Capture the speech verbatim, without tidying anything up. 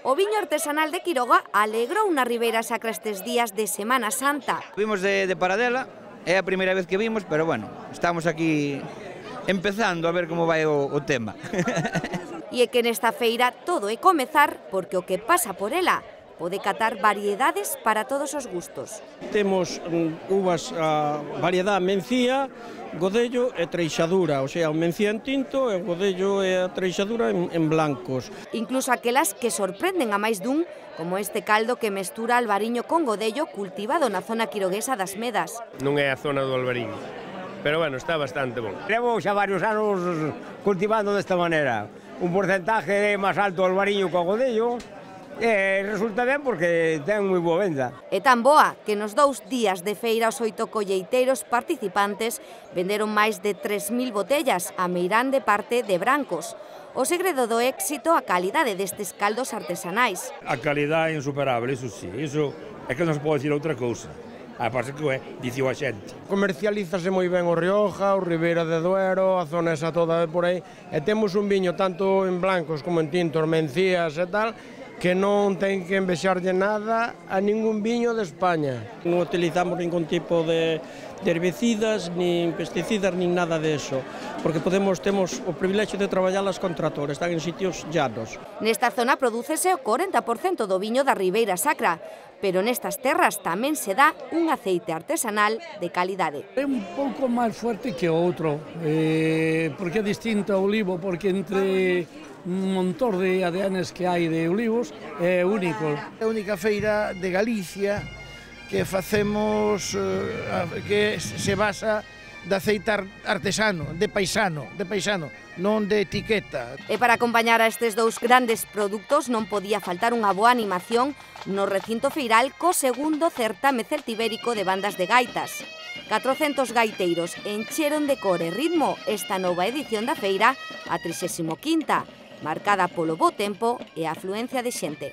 O viño artesanal de Quiroga alegrou na Ribeira Sacra estes días de Semana Santa. Vimos de, de Paradela, é a primeira vez que vimos, pero bueno, estamos aquí empezando a ver como vai o, o tema. E é que nesta feira todo é comezar, porque o que pasa por ela pode catar variedades para todos os gustos. Temos uvas a variedade mencía, godello e treixadura, o sea, o mencía en tinto e o godello e a treixadura en, en blancos. Incluso aquelas que sorprenden a máis dun, como este caldo que mestura albariño con godello cultivado na zona quiroguesa das Medas. Non é a zona do albariño, pero bueno, está bastante bon. Levo xa varios anos cultivando desta maneira. Un porcentaje máis alto do albariño co godello, e resulta ben porque ten moi boa venda. É tan boa que nos dous días de feira os oito colleiteiros participantes venderon máis de tres mil botellas, a meirande parte de brancos. O segredo do éxito a calidade destes caldos artesanais. A calidade é insuperable, iso sí, iso é que non se pode dicir outra cousa. A parte que é, dicío a xente. Comercialízase moi ben o Rioja, o Ribeira de Duero, a zona esa toda por aí, e temos un viño tanto en blancos como en tintos, mencías e tal, que non ten que envexarlle nada a ningún viño de España. Non utilizamos ningún tipo de, de herbicidas, nin pesticidas, nin nada de eso, porque podemos temos o privilexio de traballarlas con tractor, están en sitios llanos. Nesta zona prodúcese o corenta por cento do viño da Ribeira Sacra, pero nestas terras tamén se dá un aceite artesanal de calidade. É un pouco máis fuerte que o outro, eh, porque é distinto ao olivo, porque entre un montón de A D Ns que hai de olivos é único. É a única feira de Galicia que facemos, que se basa de aceite artesano, de paisano, de paisano, non de etiqueta. E para acompañar a estes dous grandes produtos non podía faltar unha boa animación no recinto feiral co segundo certame celtibérico de bandas de gaitas. catrocentos gaiteiros encheron de cor e ritmo esta nova edición da feira, a trixésima quinta, marcada polo bo tempo e a afluencia de xente.